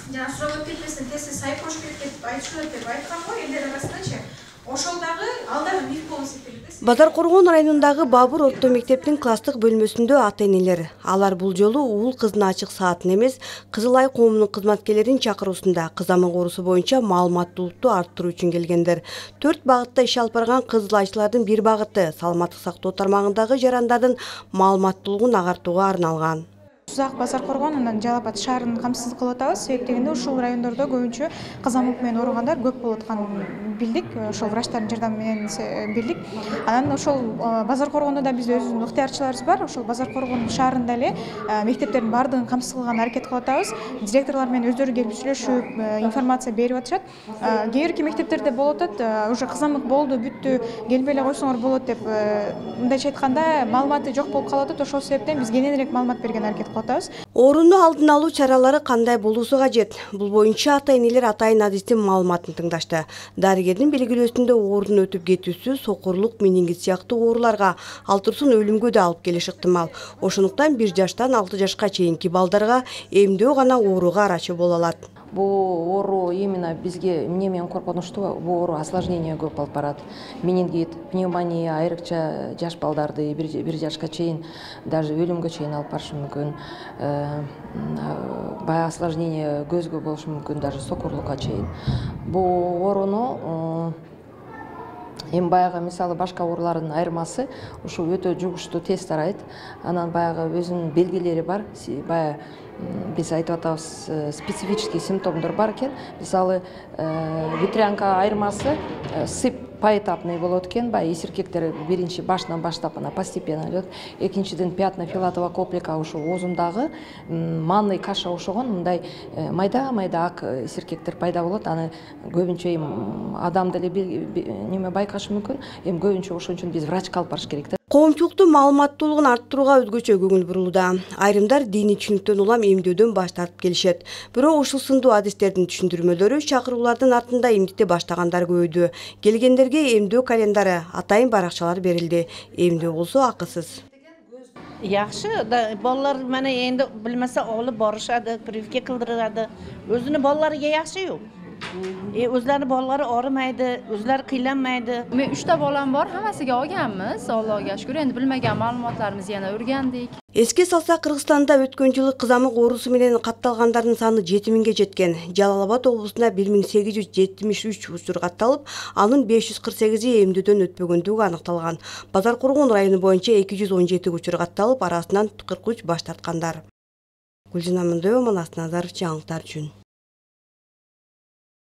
Жана сурап кетпесин тести сайып коюш керек деп айтышат деп айткан го элдер арасындачы. Ошол дагы ал дагы миф болуп эсептелет. Базар Коргон районундагы Бабур орто мектептин класстык бөлмөсүндө ата-энелер алар бул жолу уул кыздын ачык саатын эмес, Кызыл Ай коомунун кызматкерлерин чакыруусунда кызамык оорусу боюнча маалыматтуулукту арттыруу үчүн келгендер. 4 багытта иш алып барган Кызыл Айчылардын бир багыты саламаттык сактоо тармагындагы жарандардын маалыматтуулугун агартууга арналган. Узак Базар Коргон анан Жалал Абад шаарын камсыз кылып атабыз. Себеп дегенде ушул райондордо көбүнчө кызамык менен ооругандар көп болуп атканын билдик. Ошол врачтардын жардамы менен билдик. Анан ошол Базар Коргондо да биз өзүбүздүн ыктыярчыларыбыз бар. Ошол Базар Коргон шаарында эле мектептердин баардыгын камсыз кылганга аракет кылып атабыз. Директорлор менен өздөрү келип сүйлөшүп, информация берип атышат. Кээ бирки мектептерде болуп атат, уже кызамык болду, бүттү, келбей эле койсоңор болот деп мындайча айтканда маалыматы жок болуп калып атат. Ошол себептен биз кененирээк маалымат берген аракет кылып атабыз. Ооруну алдын алуу чаралары кандай болуусу кажет? Бул боюнча ата-энелер атайын адистин маалыматын тыңдашты. Дарыгердин белгилөөсүндө оорунун өтүп кетүүсү сокурлук, менингит сыяктуу ооруларга, ал турсун өлүмгө да алып келиши ыктымал. Ошондуктан 1 жаштан 6 жашка чейинки балдарга эмдөө гана ооруга арачы боло алат. Бул оору именно бизге эмне менен коркунучтуу, бул оору осложнение көп алып барат. Менингит, пневмония, айрыкча жаш балдарды 1 жашка чейин даже өлүмгө чейин алып барышы мүмкүн. Баягы осложнение көзгө болушу мүмкүн, даже сокурлукка чейин. Бул ооруну эми баягы мисалы башка оорулардын айырмасы ушу өтө жугуштуу тез тарайт. Анан баягы өзүнүн белгилери бар. Баягы биз айтып атабыз, специфический симптомдор бар экен. Мисалы ветрянка айырмасы сып поэтапный болот экен. Баягы эсиркектер биринчи башынан баштап ана постепенно идет. Экинчиден пятна филатова комплека ушу оозундагы манный каша ошогон мындай майда ак эсиркектер пайда болот. Аны көбүнчө эми адам деле неме байкашы мүмкүн. Эми көбүнчө ошон үчүн биз врачка алып барыш керек да. Коомчулуктун маалыматтуулугун арттырууга өзгөчө көңүл бурулууда. Айрымдар диний түшүнүктөн улам эмдөөдөн баш тартып келишет. Бирок ушул сындуу адистердин түшүндүрмөлөрү чакыруулардын артында эмдикти баштагандар көбөйдү. Келгендерге эмдөө календары, атайын баракчалар берилди. Эмдөө болсо акысыз. Жакшы, балалар мына энди билмесе алып барышады, прививка кылдырады. Өзүнүн балаларга жакшы-ю. Өзлөрүнүн балалары ооrumайды, өзлөрү кыйланмайды. Мен 3 балам бар, хаммасыга олганбыз. Аллага шүкүр. Энди билмеген маалыматларыбызды жана өргөндүк. Эске салсак, Кыргызстанда өткөн жылы кызамык оорусу менен катталгандардын саны 7000ге жеткен. Жалал Абад облусунда 1873 учур катталып, анын 548и эмдөөдөн өтпөгөндүгү аныкталган. Базар Коргон району боюнча 217 учур катталып, арасынан 43 баш тарткандар. Гүлжина Мындоева, Манас Назаров, жаңылыктар үчүн.